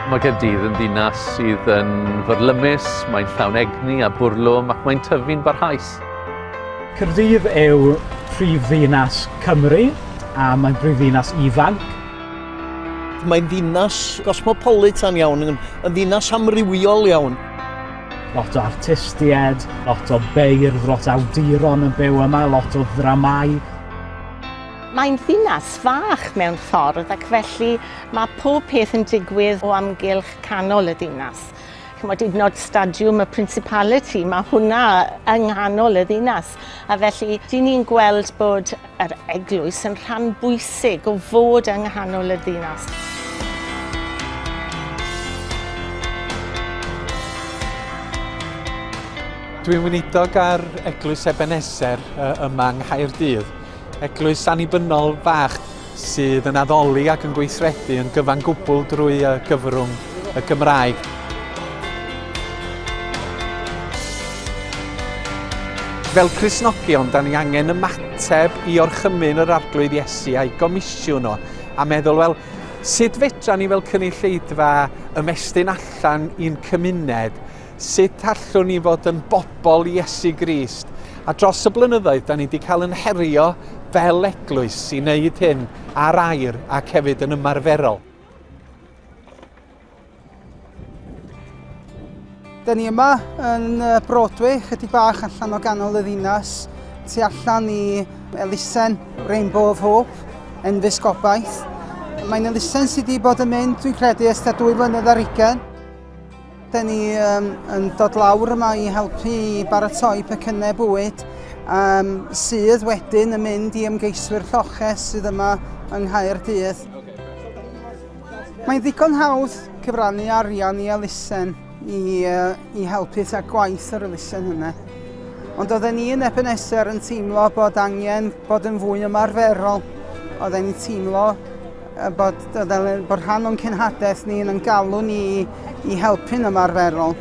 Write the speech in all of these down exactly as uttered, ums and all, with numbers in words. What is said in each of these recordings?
Mae Caerdydd yn ddinas sydd yn fyrlymus, mae'n llawn egni a bwrlwm ac mae'n tyfu'n barhaus. Caerdydd yw prifddinas Cymru a mae'n brifddinas ifanc. Mae'n ddinas gosmopolitan iawn, yn ddinas amrywiol iawn. Lot o artistiaid, lot o beirdd, lot o awduron yn byw yma, lot o ddramau. Mae'n ddinas fach mewn ffordd ac felly mae pob peth yn digwydd o amgylch canol y ddinas. Chymod, hyd yn oed stadiwm y Principality, mae hwnna yng nghanol y ddinas. A felly, dyn ni'n gweld bod yr eglwys yn rhan bwysig o fod yng nghanol y ddinas. Dwi'n weinidog ar Eglwys Ebeneser yma yng Nghaerdydd. Eglwys annibynnol fach sydd yn addoli ac yn gweithredu yn gyfan gwbl drwy gyfrwng y Gymraeg. Fel Cristnogion, da ni angen ymateb i orchymyn yr Arglwydd Iesu a'i gomisiwn o, a meddwl, wel, sut fedra ni fel cynulleidfa ymestyn allan i'n cymuned? Sut allwn ni fod yn bobl Iesu Grist? A dros y blynyddoedd, da ni wedi cael yn herio fel eglwys i wneud hyn ar air ac hefyd yn ymarferol. Da ni yma yn Broadway, chydig bach allan o ganol y ddinas, tu allan i elusen Rainbow of Hope, Enfys Gobaith. Mae'n elusen sydd wedi bod yn mynd, dwi'n credu, ers tua dwy flynedd ar hugain. Da ni um, yn dod lawr yma i helpu i baratoi pecynnau bwyd um, sydd wedyn yn mynd i ymgeiswyr lloches sydd yma yng Nghaerdydd. Mae'n ddigon hawdd cyfrannu arian i elusen i, uh, i helpu ta gwaith yr elusen hynny. Ond oedden ni yn Ebeneser yn teimlo bod angen bod yn fwy ymarferol. Oedden ni'n teimlo bod, bod rhan o'n cenhadaeth ni yn galw ni i, i helpu'n ymarferol.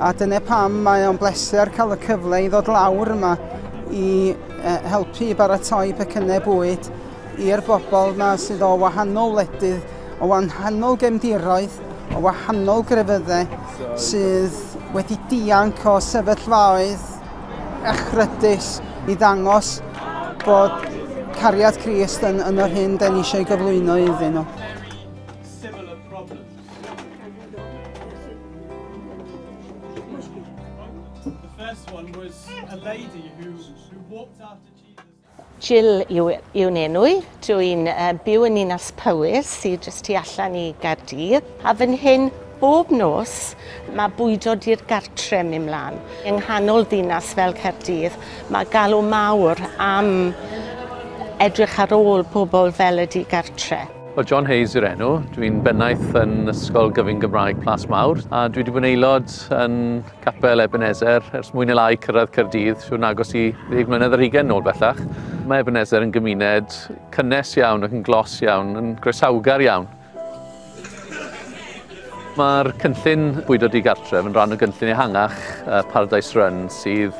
A dyna pam mae o'n bleser cael y cyfle i ddod lawr yma i helpu i baratoi pecynnau bwyd i'r bobl yma sydd o wahanol wledydd, o wahanol gefndiroedd, o wahanol grefyddau sydd wedi dianc o sefyllfaoedd echrydus i ddangos bod cariad Crist yn, yn yr hyn da ni eisiau gyflwyno iddyn nhw. Jill yw, yw'n enw i. Dwi'n uh, byw yn Ninas Powys, sydd jyst tu allan i Gaerdydd. A fan hyn, bob nos, mae bwydo di'r gartre mynd mlaen. Yng nghanol ddinas fel Caerdydd, mae galw mawr am edrych ar ôl pobl fel y digartre. Wel, John Hayes yw'r enw. Dwi'n bennaeth yn Ysgol Gyfun Gymraeg Plas Mawr a dwi wedi bod yn aelod yn Capel Ebeneser ers mwy neu lai cyrraedd Caerdydd, siwr agos i ddeg mlynedd ar hugain nôl bellach. Mae Ebeneser yn gymuned cynnes iawn ac yn glos iawn, yn groesawgar iawn. Mae'r cynllun bwydo digartref yn rhan o gynllun ehangach Paradise Run sydd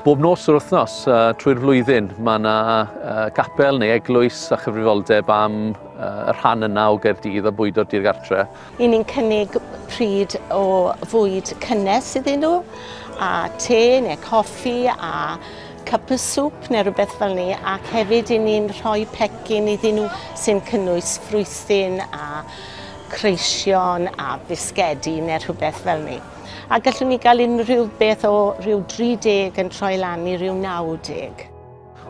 bob nos o'r wythnos uh, trwy'r flwyddyn. Mae yna uh, gapel neu eglwys a chyfrifoldeb am uh, y rhan yna o Gaerdydd a bwydo'r digartre. I ni'n cynnig pryd o fwyd cynnes iddyn nhw, a te neu coffi a cup of soup neu rhywbeth fel ni, ac hefyd i ni'n rhoi pecyn iddyn nhw sy'n cynnwys ffrwythyn a creision a bisgedi neu rhywbeth fel ni. A gallwn ni gael unrhyw beth o rhyw dri deg yn troi lan i rhyw naw deg.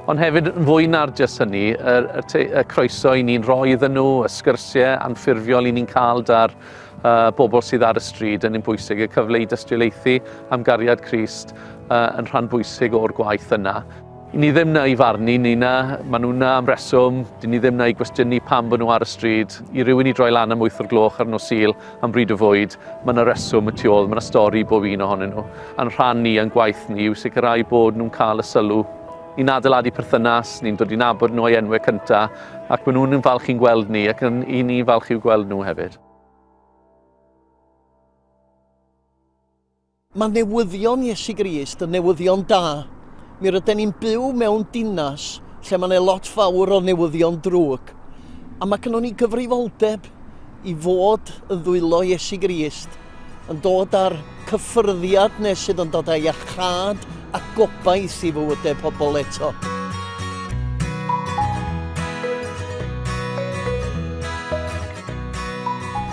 Ond hefyd, yn fwy na'r jyst hynny, y, y, y croeso i ni'n rhoi iddyn nhw, y sgyrsiau anffurfiol i ni'n cael da'r uh, bobl sydd ar y stryd yn un bwysig, y cyfle i dystiolaethu am gariad Crist uh, yn rhan bwysig o'r gwaith yna. Ni ddim na i farnu ni na, maen nhw na am reswm, dyn ni ddim na i gwestiynu pam bod nhw ar y stryd. I rywun i droi lan am wyth o'r gloch ar nos Sul am bryd o fwyd, mae yna reswm y tu ôl, mae yna stori bob un ohonyn nhw. A'n rhan ni, a'n gwaith ni, yw sicrhau bod nhw'n cael y sylw. Ni'n adeiladu perthynas, ni'n dod i nabod nhw o'i enwau cyntaf, ac maen nhw'n falch i'n gweld ni, ac yn i ni falch i'w gweld nhw hefyd. Mae newyddion Iesu Grist yn newyddion da. Mi rydyn ni'n byw mewn dinas lle mae yna lot fawr o newyddion drwg. A mae gynnon ni gyfrifoldeb i fod yn ddwylo Iesu Grist, yn dod ar cyffyrddiad nes sydd yn dod â iachâd a gobaith i fywydau pobl eto.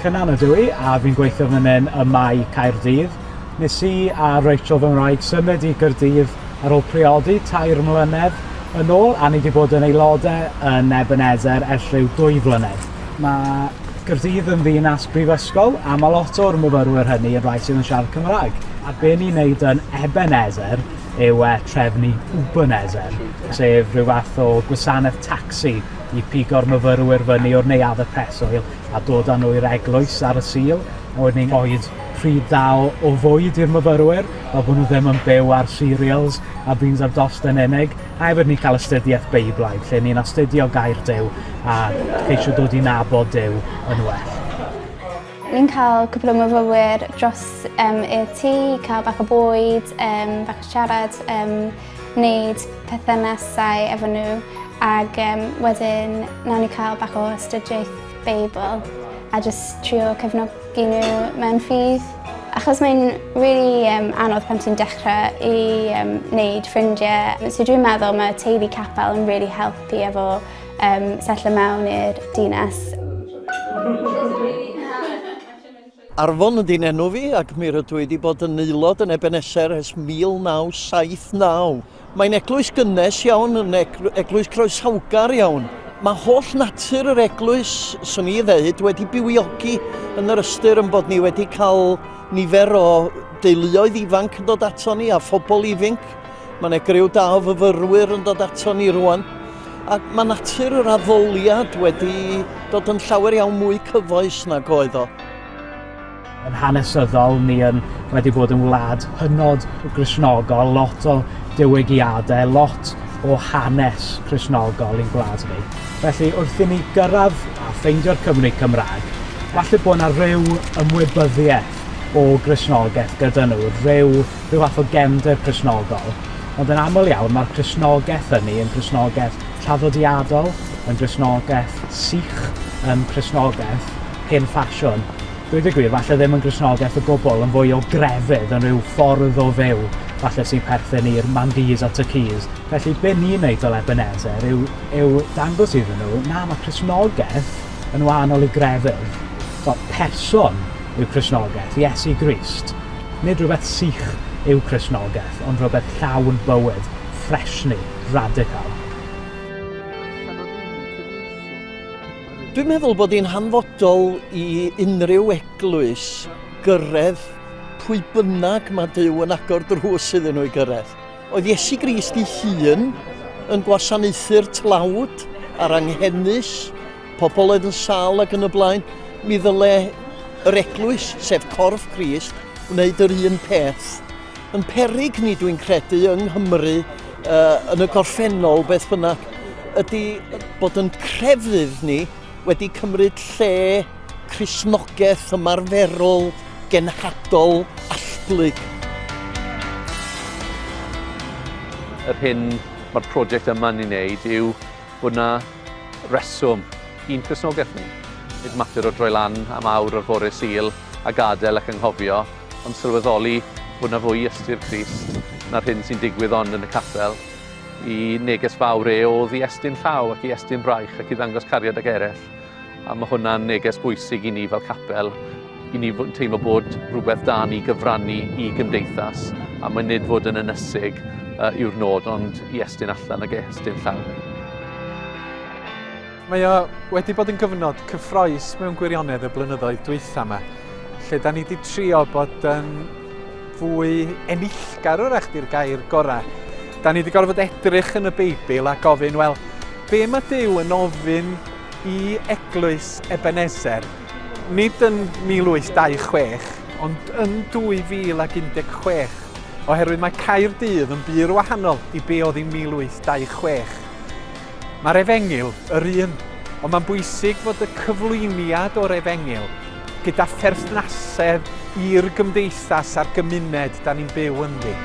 Cynan ydw i, a fi'n gweithio fan hyn ym Mae Caerdydd. Nes i a Rachel fy ngwraig symud i Gaerdydd ar ôl priodi tair mlynedd yn ôl, a ni wedi bod yn aelodau yn Ebenezer ers rhyw dwy flynedd. Mae Gaerdydd yn ddinas brifysgol, a mae lot o'r myfyrwyr hynny yn rhai sydd yn siarad Cymraeg. A be ni'n neud yn Ebenezer yw e, trefnu Ubenezer, sef rhyw fath o gwasanaeth tacsi i pigo'r myfyrwyr fyny o'r neuaddau preswyl a dod â nhw i'r eglwys ar y Sul. A wedyn ni'n rhoi pryd da o, o fwyd i'r myfyrwyr, fel bod nhw ddim yn byw ar cereals a beans ar dost yn unig. A hefyd ni'n cael astudiaeth Beiblaidd, lle ni'n astudio gair Duw a ceisio dod i nabod Duw yn well. Ni'n cael cwpl o myfyrwyr dros um, i'r tŷ, cael bach o bwyd, um, bach o siarad, um, wneud perthynasau efo nhw, ac um, wedyn nawn ni cael bach o astudiaeth Beibl a just trio cefnogi nhw mewn ffydd. Achos mae'n really um, anodd pan ti'n dechrau i um, wneud ffrindiau. So dwi'n meddwl mae teulu capel yn really helpu efo um, setlo mewn i'r dinas. Arfon ydy'n enw fi, ac mi rydw i wedi bod yn aelod yn Ebenezer ers mil naw saith naw. Mae'n eglwys gynnes iawn, yn eglwys croesawgar iawn. Mae holl natur yr eglwys, swn i ddeud, wedi bywiogi yn yr ystyr yn bod ni wedi cael nifer o deuluoedd ifanc yn dod ato ni a phobl ifanc. Mae yna griw da o fyfyrwyr yn dod ato ni rwan. Ac mae natur yr addoliad wedi dod yn llawer iawn mwy cyfoes nag oedd o. Yn hanesyddol, ni yn wedi bod yn wlad hynod Gristnogol, lot o diwygiadau, lot o hanes Cristnogol i'n gwlad ni. Felly, wrth i ni gyrraedd a ffeindio'r Cymry Cymraeg, falle bod yna rhyw ymwybyddiaeth o Gristnogaeth gyda nhw, rhyw, rhyw fath o gefndir Cristnogol. Ond yn aml iawn, mae'r Cristnogaeth hynny yn Cristnogaeth traddodiadol, yn Gristnogaeth sych, yn Cristnogaeth hen ffasiwn. Dweud y gwir, falle ddim yn Gristnogaeth o gwbl, yn fwy o grefydd, yn rhyw ffordd o fyw, falle sy'n perthyn i'r Mandis a Tyrkeys. Felly, be ni'n neud fel Ebenezer yw, yw dangos iddyn nhw, na, mae Cristnogaeth yn wahanol i grefydd. So, person yw Cristnogaeth, Iesu Grist. Nid rhywbeth sych yw Cristnogaeth, ond rhywbeth llawn bywyd, ffresni, radical. Dwi'n meddwl bod hi'n hanfodol i unrhyw eglwys gyrraedd pwy bynnag mae Duw yn agor drws iddyn nhw i gyrraedd. Oedd Iesu Grist ei hun yn gwasanaethu'r tlawd a'r anghenus, pobl oedd yn sâl ac yn y blaen. Mi ddyle yr eglwys, sef corff Crist, wneud yr un peth. Yn peryg ni, dwi'n credu, yng Nghymru, uh, yn y gorffennol, beth bynnag, ydy bod yn crefydd ni wedi cymryd lle Cristnogaeth ymarferol, genhadol, allblyg. Yr hyn mae'r prosiect yma'n ei wneud yw bod yna reswm i'n Cristnogaeth ni. Nid mater o droi lan am awr o'r fore Sul a gadael ac anghofio, ond sylweddoli bod yna fwy ystyr Crist na'r hyn sy'n digwydd ond yn y capel. I neges fawr e oedd i estyn llaw ac i estyn braich ac i ddangos cariad ag eraill. A mae hwnna'n neges bwysig i ni fel capel, i ni teimlo bod rhywbeth da ni gyfrannu i gymdeithas, a mae nid fod yn ynysig uh, yw'r nod, ond i estyn allan ac estyn llaw. Mae o wedi bod yn gyfnod cyffrous mewn gwirionedd y blynyddoedd dwytha yma, lle da ni wedi trio bod yn fwy enillgar wrach di'r gair gorau. Da ni wedi gorfod edrych yn y Beibl a gofyn, wel, be mae Duw yn ofyn i eglwys Ebenezer? Nid yn mil wyth dau chwech, ond yn dwy fil ac un deg chwech, oherwydd mae Caerdydd yn bur wahanol i be oedd yn mil wyth dau chwech. Mae'r Efengyl yr un, ond mae'n bwysig fod y cyflwyniad o'r Efengyl gyda pherthnasedd i'r gymdeithas a'r gymuned da ni'n byw ynddi.